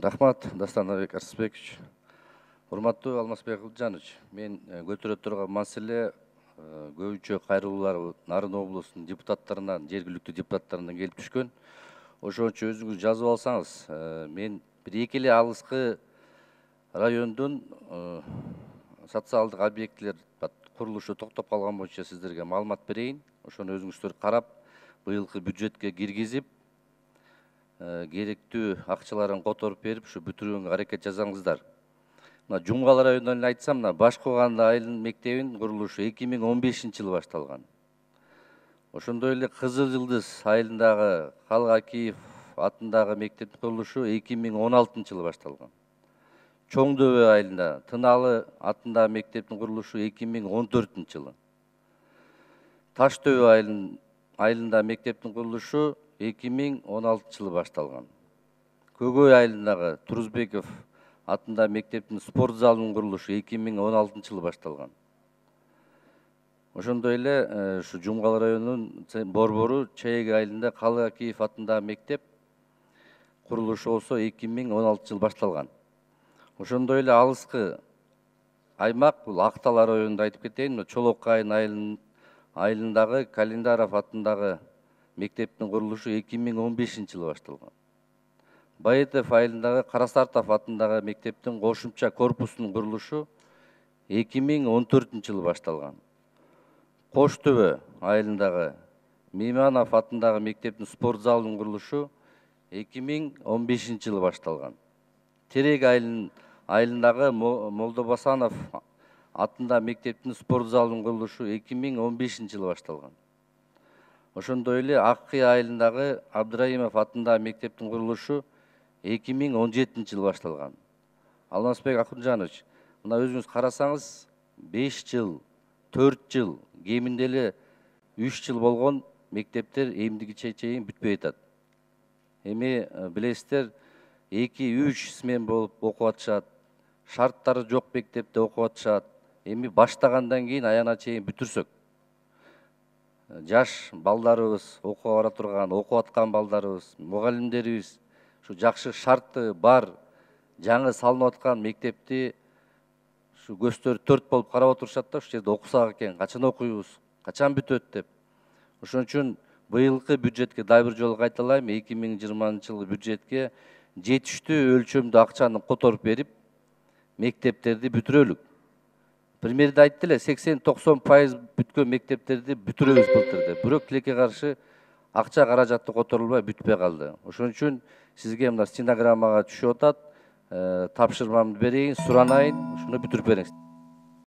Рахмат, Дастанбек Арсызбекович. Урматтуу Алмазбек Акылжанович, мен көтөрө турган маселе көбүнчө кайрылуулар Нарын облусунун депутаттарынан, жергиликтүү депутаттарынан келип түшкөн. Ошон үчүн өзүңүз жазып алсаңыз, мен бир эки эле алыскы райондун социалдык объектилер курулушу токтоп калган боюнча сиздерге маалымат берейин. Ошону өзүңүздөр карап, быйылкы бюджетке киргизип, керектүү акчаларын которуп берип, ушу бүтүрүүгө аракет жасаңыздар. Мына Жумгал районунан эле айтсам, мына Башкоганды айылынын мектебинин курулушу 2015-жылы башталган. Ошондой эле Кызыл Жылдыз айылындагы Калгакиев атындагы мектептин курулушу 2016-жылы башталган. Чоң Дөбө айылында Тыналы атындагы мектептин курулушу 2014-жылы. Таш Дөбө айылында мектептин курулушу 2016-жылы башталган. Көгөй айылындагы Турузбеков атында мектептин спорт залынын курулушу 2016-жылы башталган. Ошондой эле ушу Жумгал районунун борбору Чайек айылында Калгакиев атындагы мектеп курулушу болсо 2016-жылы башталган. Ошондой эле алыскы аймак бул Актал районунда айтып кетейин, Чолок Кайын айылындагы Календаров атындагы мектептин курулушу 2015-жылы башталган. Баетов айылындагы Карасартов атындагы мектептин кошумча корпусунун курулушу 2014-жылы башталган. Кош Төбө айылындагы Мейманов атындагы мектептин спорт залынын курулушу 2015-жылы башталган. Терек айылындагы Молдобасанов атындагы мектептин спорт залынын курулушу 2015-жылы башталган. Ошондой эле Аккы айылындагы Абдраимов атындагы мектептин курулушу 2017-жылы башталган. Алмазбек Акылжанович, мына өзүңүз карасаңыз, 5 жыл, 4 жыл, кеминде эле 3 жыл болгон мектептер эмдигиче чейин бүтпөй атат. Эми билесиздер, 2-3 смен болуп окуп атышат, шарттары жок мектепте окуп атышат. Эми баштагандан кийин аягына чейин бүтүрсөк, жаш балдарыбыз, окууга бара турган, окуп аткан балдарыбыз, мугалимдерибиз ушу жакшы шарты бар, жаңы салынып аткан мектепти ушу көздөрү төрт болуп карап отурушат да, ушул жерде окусак экен, качан окуйбуз, качан бүтөт деп. Ошон үчүн быйылкы бюджетке дагы бир жолу кайталайм, 2020-жылы бюджетке жетиштүү өлчөмдүү акчаны которуп берип, мектептерди бүтүрөлүк. Премьерде айтты эле, 80-90% бүткөн мектептерди бүтүрөбүз былтыр деп. Бирок тилекке каршы акча каражаты которулбай бүтпөй калды. Ошон үчүн сизге мына стенограммага түшүп атат, тапшырмамды берейин, суранайын, ушуну бүтүрүп бериңиз.